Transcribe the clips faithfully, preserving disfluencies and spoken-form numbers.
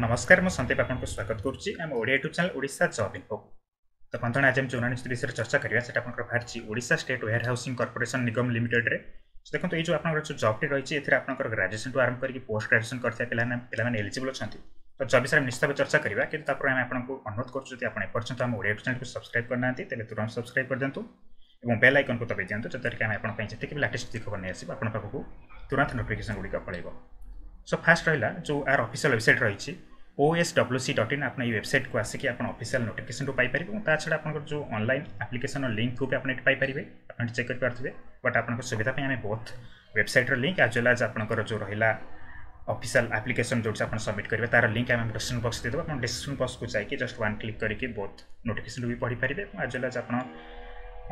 ନମସ୍କାର ମୁଁ ସନ୍ଦୀପ ଆପଣଙ୍କୁ ସ୍ୱାଗତ କରୁଛି ଆମ Odia YouTube channel Odisha job info ତ ବନ୍ଧୁଗଣ ଆଜି ଆମେ ଯେଉଁ ନିଯୁକ୍ତି ବିଷୟରେ ଚର୍ଚ୍ଚା କରିବା ସେଟା ଆପଣଙ୍କର ବାହାରିଛି Odisha state warehousing corporation ନିଗମ ଲିମିଟେଡ୍ରେ ଦେଖନ୍ତୁ ଏଇ ଯେଉଁ ଆପଣଙ୍କର ଯେଉଁ ଜବ୍ଟି ରହିଛି ଏଥିରେ ଆପଣଙ୍କର ଗ୍ରାଜୁଏସନ୍ଠୁ ଆରମ୍ଭ କରିକି ପୋଷ୍ଟ ଗ୍ରାଜୁଏସନ୍ କରିଥିବା ପିଲାମାନେ ପିଲାମାନେ ଏଲିଜିବଲ୍ ଅଛନ୍ତି ତ ଜବ୍ ବିଷୟରେ ଆମେ ନିଶ୍ଚିତ ଭାବେ ଚର୍ଚ୍ଚା କରିବା କିନ୍ତୁ ତାପରେ ଆମେ ଆପଣଙ୍କୁ ଅନୁରୋଧ କରୁଛୁ ଯଦି ଆପଣ ଏପର୍ଯ୍ୟନ୍ତ ଆମ ଓଡ଼ିଆ ୟୁଟ୍ୟୁବ୍ ଚ୍ୟାନେଲକୁ ସବସ୍କ୍ରାଇବ୍ କରିନାହାନ୍ତି ତେବେ ତୁରନ୍ତ ସବସ୍କ୍ରାଇବ୍ କରିଦିଅନ୍ତୁ ଏବଂ ବେଲ୍ ଆଇକନ୍କୁ ଦବାଇ ଦିଅନ୍ତୁ ଯଦ୍ୱାରା କି ଆମେ ଆପଣଙ୍କ ପାଇଁ ଯେତିକି ବି ଲାଟେଷ୍ଟ ଖବର ନେଇ ଆସିବୁ ଆପଣଙ୍କ ପାଖକୁ ତୁରନ୍ତ ନୋଟିଫିକେସନ୍ ଗୁଡ଼ିକ ପଳେଇବ ସୋ ଫାଷ୍ଟ ରହିଲା ଯେଉଁ ଆର ଅଫିସିଆଲ୍ ୱେବସାଇଟ୍ ରହିଛି O S W C dot in ଆପଣ ଏଇ ୱେବସାଇଟ୍କୁ ଆସିକି ଆପଣ ଅଫିସିଆଲ୍ ନୋଟିଫିକେସନ୍ରୁ ପାଇପାରିବେ ଏବଂ ତା ଛଡ଼ା ଆପଣଙ୍କର ଯେଉଁ ଅନଲାଇନ୍ ଆପ୍ଲିକେସନ୍ର ଲିଙ୍କ୍କୁ ବି ଆପଣ ଏଠି ପାଇପାରିବେ ଆପଣ ଏଠି ଚେକ୍ କରିପାରୁଥିବେ ବଟ୍ ଆପଣଙ୍କ ସୁବିଧା ପାଇଁ ଆମେ ବୋଥ୍ ୱେବସାଇଟ୍ର ଲିଙ୍କ୍ ଆଜ୍ ୱେଲ୍ ଆଜ୍ ଆପଣଙ୍କର ଯେଉଁ ରହିଲା ଅଫିସିଆଲ୍ ଆପ୍ଲିକେସନ୍ ଯେଉଁଠି ଆପଣ ସବମିଟ୍ କରିବେ ତାର ଲିଙ୍କ୍ ଆମେ ଡିସ୍କ୍ରିପ୍ସନ୍ ବକ୍ସ ଦେଇଦେବୁ ଆପଣ ଡିସ୍କ୍ରିପ୍ସନ୍ ବକ୍ସକୁ ଯାଇକି ଜଷ୍ଟ ୱାନ୍ କ୍ଲିକ୍ କରିକି ବୋଥ୍ ନୋଟିଫିକେସନ୍ ବି ପଢ଼ିପାରିବେ ଏବଂ ଆଜ୍ ୱେଲ୍ ଆଜ୍ ଆପଣ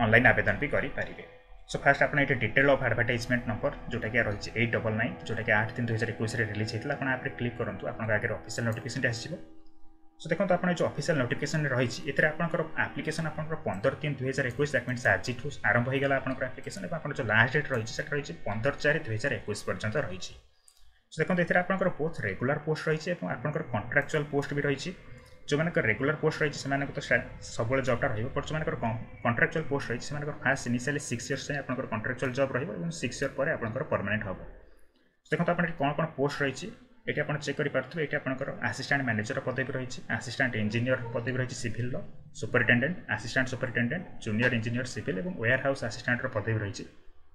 ଅନଲାଇନ୍ ଆବେଦନ ବି କରିପାରିବେ ସୋ ଫାଷ୍ଟ ଆପଣ ଏଠି ଡିଟେଲ୍ ଅଫ୍ ଆଡ଼ଭର୍ଟାଇଜମେଣ୍ଟ ନମ୍ବର ଯେଉଁଟାକି ରହିଛି ଏଇଟ୍ ଡବଲ୍ ନାଇନ୍ ଯେଉଁଟାକି ଆଠ ତିନି ଦୁଇ ହଜାର ଏକୋଇଶରେ ରିଲିଜ୍ ହେଇଥିଲା ଆପଣ ଆପରେ କ୍ଲିକ୍ କରନ୍ତୁ ଆପଣଙ୍କ ଆଗରେ ଅଫିସିଆଲ୍ ନୋଟିଫିକେସନ୍ଟି ଆସିଯିବ ସୋ ଦେଖନ୍ତୁ ଆପଣ ଯେଉଁ ଅଫିସିଆଲ୍ ନୋଟିଫିକେସନ୍ ରହିଛି ଏଥିରେ ଆପଣଙ୍କର ଆପ୍ଲିକେସନ୍ ଆପଣଙ୍କର ପନ୍ଦର ତିନି ଦୁଇ ହଜାର ଏକୋଇଶ that means ଆଜିଠୁ ଆରମ୍ଭ ହୋଇଗଲା ଆପଣଙ୍କର ଆପ୍ଲିକେସନ୍ ଏବଂ ଆପଣଙ୍କର ଯେଉଁ ଲାଷ୍ଟ ଡେଟ୍ ରହିଛି ସେଟା ରହିଛି ପନ୍ଦର ଚାରି ଦୁଇ ହଜାର ଏକୋଇଶ ପର୍ଯ୍ୟନ୍ତ ରହିଛି ସୋ ଦେଖନ୍ତୁ ଏଥିରେ ଆପଣଙ୍କର ବୋଥ୍ ରେଗୁଲାର ପୋଷ୍ଟ ରହିଛି ଏବଂ ଆପଣଙ୍କର କଣ୍ଟ୍ରାକ୍ଚୁଆଲ୍ ପୋଷ୍ଟ ବି ରହିଛି ଯେଉଁମାନଙ୍କର ରେଗୁଲାର ପୋଷ୍ଟ ରହିଛି ସେମାନଙ୍କୁ ତ ସବୁବେଳେ ଜବ୍ଟା ରହିବ ବଟ୍ ଯେଉଁମାନଙ୍କର କଣ୍ଟ୍ରାକ୍ଚୁଆଲ୍ ପୋଷ୍ଟ ରହିଛି ସେମାନଙ୍କର ଫାଷ୍ଟ ଇନିସିଆଲି ସିକ୍ସ ଇୟର୍ସ ଯାଏଁ ଆପଣଙ୍କର କଣ୍ଟ୍ରାକ୍ଚୁଆଲ୍ ଜବ୍ ରହିବ ଏବଂ ସିକ୍ସ ଇୟର୍ ପରେ ଆପଣଙ୍କର ପରମାନେଣ୍ଟ ହେବ ଦେଖନ୍ତୁ ଆପଣ ଏଠି କ'ଣ କ'ଣ ପୋଷ୍ଟ ରହିଛି ଏଠି ଆପଣ ଚେକ୍ କରିପାରୁଥିବେ ଏଠି ଆପଣଙ୍କର ଆସିଷ୍ଟାଣ୍ଟ ମ୍ୟାନେଜର ପଦବୀ ରହିଛି ଆସିଷ୍ଟାଣ୍ଟ ଇଞ୍ଜିନିୟର ପଦବୀ ରହିଛି ସିଭିଲର superintendent assistant superintendent junior engineer civil ଏବଂ ୱେୟାର ହାଉସ୍ ଆସିଷ୍ଟାଣ୍ଟର ପଦବୀ ରହିଛି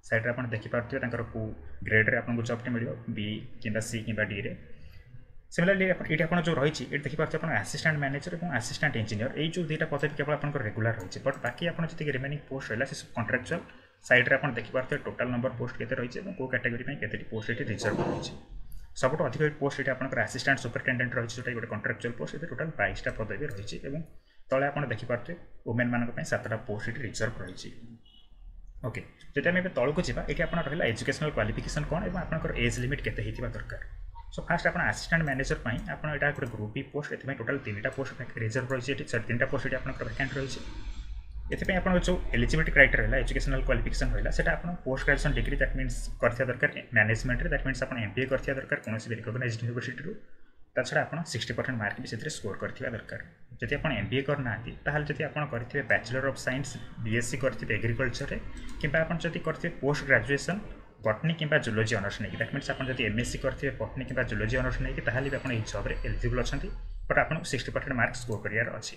ସାଇଡ଼୍ରେ ଆପଣ ଦେଖିପାରୁଥିବେ ତାଙ୍କର କେଉଁ ଗ୍ରେଡ଼୍ରେ ଆପଣଙ୍କୁ ଜବ୍ଟି ମିଳିବ ବି କିମ୍ବା ସି କିମ୍ବା ଡିରେ ସିମିଲାରଲି ଏଇଠି ଆପଣ ଯେଉଁ ରହିଛି ଏଠି ଦେଖିପାରୁଥିବେ ଆପଣ ଆସିଷ୍ଟାଣ୍ଟ ମ୍ୟାନେଜର ଏବଂ ଆସିଷ୍ଟାଣ୍ଟ ଇଞ୍ଜିନିୟର ଏଇ ଯେଉଁ ଦୁଇଟା ପଦବୀ କେବଳ ଆପଣଙ୍କର ରେଗୁଲାର ରହିଛି ବଟ୍ ବାକି ଆପଣ ଯେତିକି ରିମେନିଂ ପୋଷ୍ଟ ରହିଲା ସେ ସବୁ କଣ୍ଟ୍ରାକ୍ଚୁଆଲ୍ ସାଇଡ଼୍ରେ ଆପଣ ଦେଖିପାରୁଥିବେ ଟୋଟାଲ୍ ନମ୍ବର ପୋଷ୍ଟ କେତେ ରହିଛି ଏବଂ କେଉଁ କ୍ୟାଟାଗୋରୀ ପାଇଁ କେତେଟି ପୋଷ୍ଟ ଏଠି ରିଜର୍ଭ ରହିଛି ସବୁଠୁ ଅଧିକ ପୋଷ୍ଟ ଏଠି ଆପଣଙ୍କର ଆସିଷ୍ଟାଣ୍ଟ ସୁପରିଟେଣ୍ଡେଣ୍ଟ ରହିଛି ଯେଉଁଟା ଗୋଟେ କଣ୍ଟ୍ରାକ୍ଚୁଆଲ୍ ପୋଷ୍ଟ ଏଥିରେ ଟୋଟାଲ୍ ବାଇଶଟା ପଦବୀ ରହିଛି ଏବଂ ତଳେ ଆପଣ ଦେଖିପାରୁଥିବେ ଓମେନ୍ ମାନଙ୍କ ପାଇଁ ସାତଟା ପୋଷ୍ଟ ଏଠି ରିଜର୍ଭ ରହିଛି ଓକେ ଯଦି ଆମେ ଏବେ ତଳକୁ ଯିବା ଏଠି ଆପଣ ରହିଲା ଏଜୁକେସନାଲ୍ କ୍ୱାଲିଫିକେସନ୍ କ'ଣ ଏବଂ ଆପଣଙ୍କର ଏଜ୍ ଲିମିଟ୍ କେତେ ହେଇଥିବା ଦରକାର ସୋ ଫାଷ୍ଟ ଆପଣ ଆସିଷ୍ଟାଣ୍ଟ ମ୍ୟାନେଜର ପାଇଁ ଆପଣ ଏଇଟା ଗୋଟେ ଗ୍ରୁପ୍ ବି ପୋଷ୍ଟ ଏଥିପାଇଁ ଟୋଟାଲ୍ ତିନିଟା ପୋଷ୍ଟ ରିଜର୍ଭ ରହିଛି ଏଠି ସରି ତିନିଟା ପୋଷ୍ଟ ଏଠି ଆପଣଙ୍କର ଭ୍ୟାକାଣ୍ଟ ରହିଛି ଏଥିପାଇଁ ଆପଣଙ୍କର ଯେଉଁ ଏଲିଜିବିଲିଟି କ୍ରାଇଟେରିଆ ରହିଲା ଏଜୁକେସନାଲ୍ କ୍ୱାଲିଫିକେସନ୍ ରହିଲା ସେଟା ଆପଣ post graduation degree that means କରିଥିବା ଦରକାର ମ୍ୟାନେଜମେଣ୍ଟରେ that means ଆପଣ ଏମ୍ ବି ଏ କରିଥିବା ଦରକାର କୌଣସି ବି ରିକଗ୍ନାଇଜ୍ଡ ୟୁନିଭର୍ସିଟିରୁ ତା ଛଡ଼ା ଆପଣ ସିକ୍ସଟି ପରସେଣ୍ଟ ମାର୍କ ବି ସେଥିରେ ସ୍କୋର କରିଥିବା ଦରକାର ଯଦି ଆପଣ ଏମ୍ ବି ଏ କରିନାହାନ୍ତି ତାହେଲେ ଯଦି ଆପଣ କରିଥିବେ bachelor of science B S C କରିଥିବେ ଏଗ୍ରିକଲଚରରେ କିମ୍ବା ଆପଣ ଯଦି କରିଥିବେ ପୋଷ୍ଟ ଗ୍ରାଜୁଏସନ୍ ବଟନୀ କିମ୍ବା ଜୁଲୋଜି ଅନର୍ସ ନେଇକି that means ଆପଣ ଯଦି ଏମ୍ ଏସ୍ ସି କରିଥିବେ ବଟନୀ କିମ୍ବା ଜୁଲୋଜି ଅନର୍ସ ନେଇକି ତାହେଲେ ବି ଆପଣ ଏହି ଜବ୍ରେ ଏଲିଜିବଲ୍ ଅଛନ୍ତି ବଟ୍ ଆପଣଙ୍କୁ ସିକ୍ସଟି ପରସେଣ୍ଟ ମାର୍କ ସ୍କୋର କରିବାର ଅଛି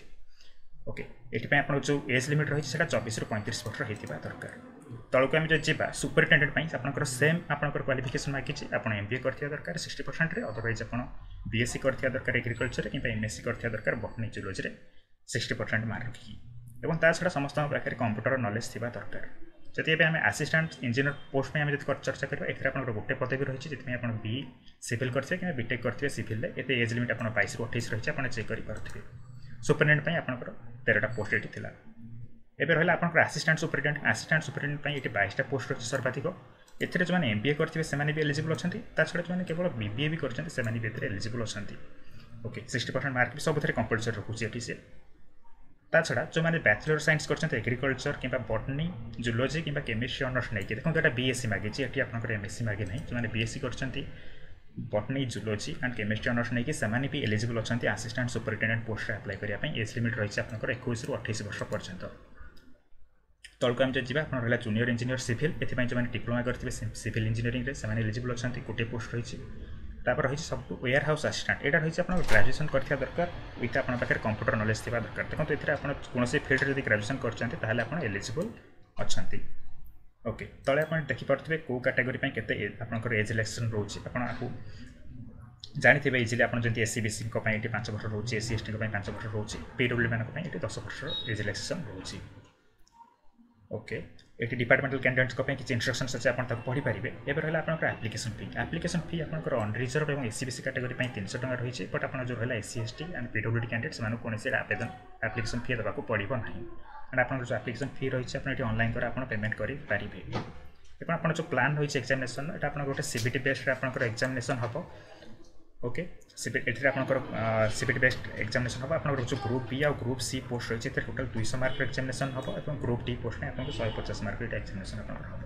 ଓକେ ଏଥିପାଇଁ ଆପଣଙ୍କ ଯେଉଁ ଏଜ୍ ଲିମିଟ୍ ରହିଛି ସେଇଟା ଚବିଶରୁ ପଇଁତିରିଶ ବର୍ଷ ହେଇଥିବା ଦରକାର ତଳକୁ ଆମେ ଯଦି ଯିବା ସୁପରିଟେଣ୍ଡେଣ୍ଟ ପାଇଁ ଆପଣଙ୍କର ସେମ୍ ଆପଣଙ୍କର କ୍ୱାଲିଫିକେସନ୍ ମାଗିଛି ଆପଣ ଏମ୍ ବି ଏ କରିଥିବା ଦରକାର ସିକ୍ସଟି ପରସେଣ୍ଟରେ ଅଦରୱାଇଜ୍ ଆପଣ ବି ଏସ୍ ସି କରିଥିବା ଦରକାର ଏଗ୍ରିକଲଚରରେ କିମ୍ବା ଏମ୍ ଏସ୍ ସି କରିଥିବା ଦରକାର ବଟନୀ ଜୁଲୋଜିରେ ସିକ୍ସଟି ପରସେଣ୍ଟ ମାର୍କ ରଖିକି ଏବଂ ତା ଛଡ଼ା ସମସ୍ତଙ୍କ ପାଖରେ କମ୍ପ୍ୟୁଟର ନଲେଜ୍ ଥିବା ଦରକାର ଯଦି ଏବେ ଆମେ ଆସିଷ୍ଟାଣ୍ଟ ଇଞ୍ଜିନିୟର ପୋଷ୍ଟ ପାଇଁ ଆମେ ଯଦି ଚର୍ଚ୍ଚା କରିବା ଏଥିରେ ଆପଣଙ୍କର ଗୋଟେ ପଦବୀ ରହିଛି ସେଥିପାଇଁ ଆପଣ ବି ସିଭିଲ୍ କରିଥିବେ କିମ୍ବା ବିଟେକ୍ କରିଥିବେ ସିଭିଲ୍ରେ ଏତେ ଏଜ୍ ଲିମିଟ୍ ଆପଣ ବାଇଶରୁ ଅଠେଇଶ ରହିଛି ଆପଣ ଚେକ୍ କରିପାରୁଥିବେ ସୁପରିଟେଣ୍ଡେଣ୍ଟ ପାଇଁ ଆପଣଙ୍କର ତେରଟା ପୋଷ୍ଟ ଏଠି ଥିଲା ଏବେ ରହିଲା ଆପଣଙ୍କର ଆସିଷ୍ଟାଣ୍ଟ ସୁପରିଟେଣ୍ଡେଣ୍ଟ ଆସିଷ୍ଟାଣ୍ଟ ସୁପରିଟେଣ୍ଡେଣ୍ଟ ପାଇଁ ଏଠି ବାଇଶଟା ପୋଷ୍ଟ ରହିଛି ସର୍ବାଧିକ ଏଥିରେ ଯେଉଁମାନେ ଏମ୍ ବି ଏ କରିଥିବେ ସେମାନେ ବି ଏଲିଜିବଲ୍ ଅଛନ୍ତି ତା ଛଡ଼ା ଯେଉଁମାନେ କେବଳ ବି ବି ଏ ବି କରିଛନ୍ତି ସେମାନେ ବି ଏଥିରେ ଏଲିଜିବଲ୍ ଅଛନ୍ତି ଓକେ ସିକ୍ସଟି ପରସେଣ୍ଟ ମାର୍କ ବି ସବୁଥିରେ କମ୍ପଲସରି ରଖୁଛି ଏଠି ସେ ତା ଛଡ଼ା ଯେଉଁମାନେ ବ୍ୟାଚଲର ସାଇନ୍ସ କରିଛନ୍ତି ଏଗ୍ରିକଲଚର କିମ୍ବା ବଟନୀ ଜୁଲୋଜି କିମ୍ବା କେମିଷ୍ଟ୍ରି ଅନର୍ସ ନେଇକି ଦେଖନ୍ତୁ ଏଇଟା ବି ଏସ୍ ସି ମାଗିଛି ଏଠି ଆପଣଙ୍କର ଏମ୍ ଏସ୍ ସି ମାଗି ନାହିଁ ଯେଉଁମାନେ ବି ଏସ୍ ସି କରିଛନ୍ତି botany zoology and chemistry honours ନେଇକି ସେମାନେ ବି ଏଲିଜିବଲ୍ ଅଛନ୍ତି ଆସିଷ୍ଟାଣ୍ଟ ସୁପରିଟେଣ୍ଡେଣ୍ଟ ପୋଷ୍ଟରେ ଆପ୍ଲାଏ କରିବା ପାଇଁ ଏଜ୍ ଲିମିଟ୍ ରହିଛି ଆପଣଙ୍କର ଏକୋଇଶରୁ ଅଠେଇଶ ବର୍ଷ ପର୍ଯ୍ୟନ୍ତ ତଳକୁ ଆମେ ଯଦି ଯିବା ଆପଣ ରହିଲା ଜୁନିୟର ଇଞ୍ଜିନିୟର ସିଭିଲ୍ ଏଥିପାଇଁ ଯେଉଁମାନେ ଡିପ୍ଲୋମା କରିଥିବେ ସିଭିଲ୍ ଇଞ୍ଜିନିୟରିଂରେ ସେମାନେ ଏଲିଜିବଲ୍ ଅଛନ୍ତି ଗୋଟିଏ ପୋଷ୍ଟ ରହିଛି ତାପରେ ରହିଛି ସବୁଠୁ ୱେୟାର ହାଉସ୍ ଆସିଷ୍ଟାଣ୍ଟ ଏଇଟା ରହିଛି ଆପଣଙ୍କ ଗ୍ରାଜୁଏସନ୍ କରିଥିବା ଦରକାର ୱିଥ୍ ଆପଣଙ୍କ ପାଖରେ କମ୍ପ୍ୟୁଟର ନଲେଜ୍ ଥିବା ଦରକାର ଦେଖନ୍ତୁ ଏଥିରେ ଆପଣ କୌଣସି ଫିଲ୍ଡରେ ଯଦି ଗ୍ରାଜୁଏସନ୍ କରିଛନ୍ତି ତାହେଲେ ଆପଣ ଏଲିଜିବଲ୍ ଅଛନ୍ତି ଓକେ ତଳେ ଆପଣ ଦେଖିପାରୁଥିବେ କେଉଁ କାଟାଗୋରୀ ପାଇଁ କେତେ ଆପଣଙ୍କର ଏଜ୍ ରିଲାକ୍ସେସନ୍ ରହୁଛି ଆପଣ ଆକୁ ଜାଣିଥିବେ ଇଜିଲି ଆପଣ ଯେମିତି ଏସ୍ ଇ ବି ସିଙ୍କ ପାଇଁ ଏଠି ପାଞ୍ଚ ବର୍ଷ ରହୁଛି ଏସ୍ ସି ଏସ୍ ଟିଙ୍କ ପାଇଁ ପାଞ୍ଚ ବର୍ଷ ରହୁଛି ପି ଡବ୍ଲ୍ୟୁ ମାନଙ୍କ ପାଇଁ ଏଠି ଦଶ ବର୍ଷର ଏଜ୍ ରିଲାକ୍ସେସନ୍ ରହୁଛି ଓକେ ଏଠି ଡିପାର୍ଟମେଣ୍ଟାଲ କ୍ୟାଣ୍ଡିଡେଟ୍ସଙ୍କ ପାଇଁ କିଛି ଇନଷ୍ଟ୍ରକ୍ସନ୍ସ ଅଛି ଆପଣ ତାକୁ ପଢ଼ିପାରିବେ ଏବେ ରହିଲା ଆପଣଙ୍କର ଆପ୍ଲିକେସନ୍ ଫି ଆପ୍ଲିକେସନ୍ ଫି ଆପଣଙ୍କର ଅନରିଜର୍ଭ ଏବଂ S E B C category ପାଇଁ ତିନିଶହ ଟଙ୍କା ରହିଛି ବଟ୍ ଆପଣ ଯେଉଁ ରହିଲା S C S T and P W D candidate ସେମାନଙ୍କୁ କୌଣସି ଆବେଦନ ଆପ୍ଲିକେସନ୍ ଫି ଦେବାକୁ ପଡ଼ିବ ନାହିଁ ଆଣ୍ଡ ଆପଣଙ୍କର ଯେଉଁ ଆପ୍ଲିକେସନ୍ ଫି ରହିଛି ଆପଣ ଏଠି ଅନଲାଇନ୍ ଦ୍ୱାରା ଆପଣ ପେମେଣ୍ଟ କରିପାରିବେ ଏବଂ ଆପଣ ଯେଉଁ ପ୍ଲାନ୍ ରହିଛି ଏକ୍ଜାମିନେସନ୍ ଏଇଟା ଆପଣଙ୍କର ଗୋଟେ ସି ବି ଟି ବେସ୍ଡରେ ଆପଣଙ୍କର ଏକ୍ଜାମିନେସନ୍ ହେବ ଓକେ ସିବି ଏଥିରେ ଆପଣଙ୍କର ସିବିଟି ବେସ୍ଡ ଏକ୍ଜାମିନେସନ୍ ହେବ ଆପଣଙ୍କର ଯେଉଁ ଗ୍ରୁପ୍ ବି ଆଉ ଗ୍ରୁପ୍ ସି ପୋଷ୍ଟ ରହିଛି ଏଥିରେ ଟୋଟାଲ୍ ଦୁଇଶହ ମାର୍କର ଏକ୍ଜାମିନେସନ୍ ହେବ ଏବଂ ଗ୍ରୁପ୍ ଡି ପୋଷ୍ଟ ପାଇଁ ଆପଣଙ୍କୁ ଶହେ ପଚାଶ ମାର୍କର ଏଇଟା ଏକ୍ଜାମିନେସନ୍ ଆପଣଙ୍କର ହେବ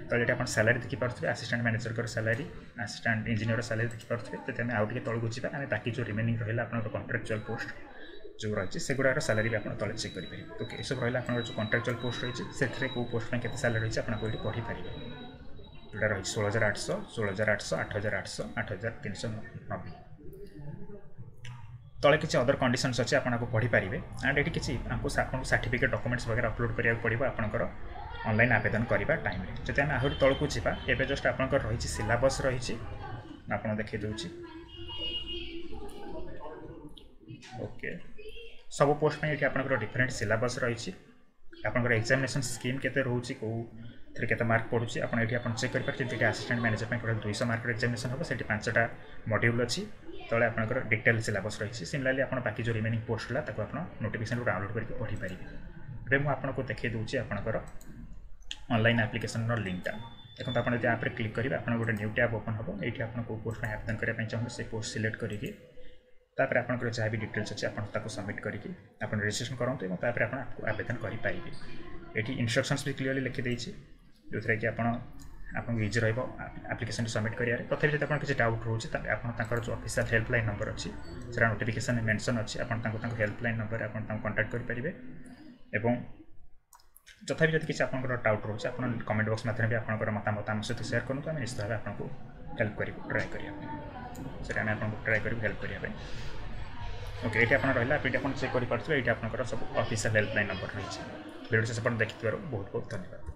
ତ ଏଠି ଆପଣ ସାଲାରୀ ଦେଖିପାରୁଥିବେ ଆସିଷ୍ଟାଣ୍ଟ ମ୍ୟାନେଜରଙ୍କର ସାଲାରୀ ଆସିଷ୍ଟାଣ୍ଟ ଇଞ୍ଜିନିୟର ସାଲାରୀ ଦେଖିପାରୁଥିବେ ଯଦି ଆମେ ଆଉ ଟିକେ ତଳକୁ ଯିବା ଆମେ ବାକି ଯେଉଁ ରିମେନିଂ ରହିଲା ଆପଣଙ୍କର କଣ୍ଟ୍ରାକ୍ଚୁଆଲ୍ ପୋଷ୍ଟ ଯେଉଁ ରହିଛି ସେଗୁଡ଼ାର ସାଲାରୀ ବି ଆପଣ ତଳେ ଚେକ୍ କରିପାରିବେ ଓକେ ଏସବୁ ରହିଲା ଆପଣଙ୍କର ଯେଉଁ କଣ୍ଟ୍ରାକ୍ଚୁଆଲ୍ ପୋଷ୍ଟ ରହିଛି ସେଥିରେ କେଉଁ ପୋଷ୍ଟ ପାଇଁ କେତେ ସାଲାରୀ ରହିଛି ଆପଣ ଏଠି ପଢ଼ିପାରିବେ ଯେଉଁଟା ରହିଛି ଷୋହଳ ହଜାର ଆଠଶହ ଷୋହଳ ହଜାର ଆଠଶହ ଆଠ ହଜାର ଆଠଶହ ଆଠ ହଜାର ତିନିଶହ ନବେ ତଳେ କିଛି ଅଦର କଣ୍ଡିସନ୍ସ ଅଛି ଆପଣ ଆକୁ ପଢ଼ିପାରିବେ ଆଣ୍ଡ ଏଠି କିଛି ଆମକୁ ଆପଣଙ୍କୁ ସାର୍ଟିଫିକେଟ୍ ଡକୁମେଣ୍ଟସ୍ ବଗେରା ଅପଲୋଡ଼ କରିବାକୁ ପଡ଼ିବ ଆପଣଙ୍କର ଅନଲାଇନ୍ ଆବେଦନ କରିବା ଟାଇମ୍ରେ ଯଦି ଆମେ ଆହୁରି ତଳକୁ ଯିବା ଏବେ ଜଷ୍ଟ ଆପଣଙ୍କର ରହିଛି ସିଲାବସ୍ ରହିଛି ମୁଁ ଆପଣଙ୍କୁ ଦେଖାଇ ଦେଉଛି ଓକେ ସବୁ ପୋଷ୍ଟ ପାଇଁ ଏଠି ଆପଣଙ୍କର ଡିଫରେଣ୍ଟ ସିଲାବସ୍ ରହିଛି ଆପଣଙ୍କର ଏକ୍ଜାମିନେସନ୍ ସ୍କିମ୍ କେତେ ରହୁଛି କେଉଁଥିରେ କେତେ ମାର୍କ ପଡ଼ୁଛି ଆପଣ ଏଠି ଆପଣ ଚେକ୍ କରିପାରିବେ ଯେମିତି ଏଠି ଆସିଷ୍ଟାଣ୍ଟ ମ୍ୟାନେଜର ପାଇଁ ଟୋଟାଲ୍ ଦୁଇଶହ ମାର୍କର ଏକ୍ଜାମିନେସନ୍ ହେବ ସେଠି ପାଞ୍ଚଟା ମଡ୍ୟୁଲ୍ ଅଛି ତଳେ ଆପଣଙ୍କର ଡିଟେଲ୍ ସିଲାବସ୍ ରହିଛି ସିମିଲାରଲି ଆପଣ ବାକି ଯେଉଁ ରିମେନିଂ ପୋଷ୍ଟ ହେଲା ତାକୁ ଆପଣ ନୋଟିଫିକେସନ୍ରୁ ଡାଉନଲୋଡ଼ କରିକି ପଢ଼ିପାରିବେ ଏବେ ମୁଁ ଆପଣଙ୍କୁ ଦେଖାଇ ଦେଉଛି ଆପଣଙ୍କର ଅନଲାଇନ୍ ଆପ୍ଲିକେସନ୍ର ଲିଙ୍କଟା ଦେଖନ୍ତୁ ଆପଣ ଯଦି ଆପ୍ରେ କ୍ଲିକ୍ କରିବେ ଆପଣ ଗୋଟେ ନ୍ୟୁ ଟ୍ୟାବ୍ ଓପନ୍ ହେବ ଏଇଠି ଆପଣ କେଉଁ ପୋଷ୍ଟ ପାଇଁ ଆବେଦନ କରିବା ପାଇଁ ଚାହୁଁଛନ୍ତି ସେ ପୋଷ୍ଟ ସିଲେକ୍ଟ କରିକି ତାପରେ ଆପଣଙ୍କର ଯାହା ବି ଡିଟେଲ୍ସ ଅଛି ଆପଣ ତାକୁ ସବମିଟ୍ କରିକି ଆପଣ ରେଜିଷ୍ଟ୍ରେସନ୍ କରନ୍ତୁ ଏବଂ ତାପରେ ଆପଣ ଆବେଦନ କରିପାରିବେ ଏଠି ଇନଷ୍ଟ୍ରକ୍ସନ୍ସ ବି କ୍ଲିୟରଲି ଲେଖିଦେଇଛି ଯେଉଁଥିରେ କି ଆପଣ ଆପଣଙ୍କୁ ଇଜି ରହିବ ଆପ୍ଲିକେସନ୍ ସବମିଟ୍ କରିବାରେ ତଥାପି ଯଦି ଆପଣ କିଛି ଡାଉଟ୍ ରହୁଛି ତାହେଲେ ଆପଣ ତାଙ୍କର ଯେଉଁ ଅଫିସିଆଲ୍ ହେଲ୍ପଲାଇନ୍ ନମ୍ବର ଅଛି ସେଟା ନୋଟିଫିକେସନ୍ ମେନସନ୍ ଅଛି ଆପଣ ତାଙ୍କୁ ତାଙ୍କ ହେଲ୍ପଲାଇନ୍ ନମ୍ବରରେ ଆପଣ ତାଙ୍କୁ କଣ୍ଟାକ୍ଟ କରିପାରିବେ ଏବଂ ତଥାପି ଯଦି କିଛି ଆପଣଙ୍କର ଡାଉଟ୍ ରହୁଛି ଆପଣ କମେଣ୍ଟ ବକ୍ସ ମାଧ୍ୟମରେ ବି ଆପଣଙ୍କର ମତାମତ ଆମ ସହିତ ସେୟାର କରନ୍ତୁ ଆମେ ନିଶ୍ଚିତ ଭାବେ ଆପଣଙ୍କୁ ହେଲ୍ପ କରିବୁ ଟ୍ରାଏ କରିବା ପାଇଁ ସେଟା ଆମେ ଆପଣଙ୍କୁ ଟ୍ରାଏ କରିବୁ ହେଲ୍ପ କରିବା ପାଇଁ ଓକେ ଏଇଠି ଆପଣ ରହିଲା ଏଇଠି ଆପଣ ଚେକ୍ କରିପାରୁଥିବେ ଏଇଠି ଆପଣଙ୍କର ସବୁ ଅଫିସିଆଲ୍ ହେଲ୍ପଲାଇନ୍ ନମ୍ବର ରହିଛି ଭିଡ଼ିଓ ଶେଷ ପର୍ଯ୍ୟନ୍ତ ଦେଖିଥିବାରୁ ବହୁତ ବହୁତ ଧନ୍ୟବାଦ